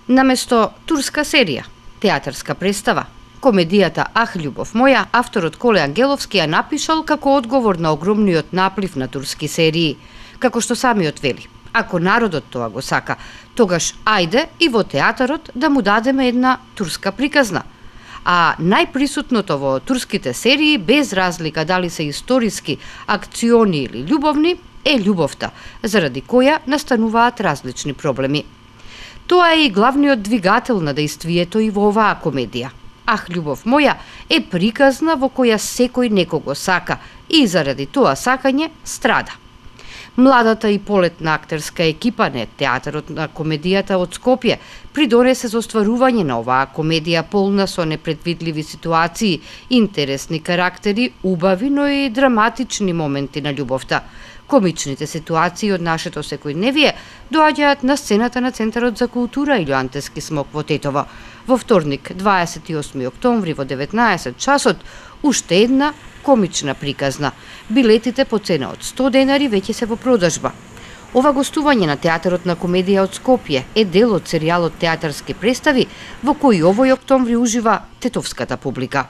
Наместо турска серија, театарска представа, комедијата Ах, љубов моја, авторот Коле Ангеловски ја напишал како одговор на огромниот наплив на турски серии, како што самиот вели. Ако народот тоа го сака, тогаш ајде и во театарот да му дадеме една турска приказна. А најприсутното во турските серии, без разлика дали се историски, акциони или љубовни, е љубовта, заради која настануваат различни проблеми. Тоа е и главниот двигател на дејствието и во оваа комедија. Ах, љубов моја е приказна во која секој некого сака и заради тоа сакање страда. Младата и полетна актерска екипа на театарот на комедијата од Скопје придонесе за остварување на оваа комедија полна со непредвидливи ситуации, интересни карактери, убави, но и драматични моменти на љубовта. Комичните ситуации од нашето секојдневие доаѓаат на сцената на Центарот за култура Илјоантески смок во Тетово. Во вторник, 28 октомври во 19 часот, уште една комична приказна. Билетите по цена од 100 денари веќе се во продажба. Ова гостување на театарот на комедија од Скопје е дел од серијалот театарски представи во кој овој октомври ужива тетовската публика.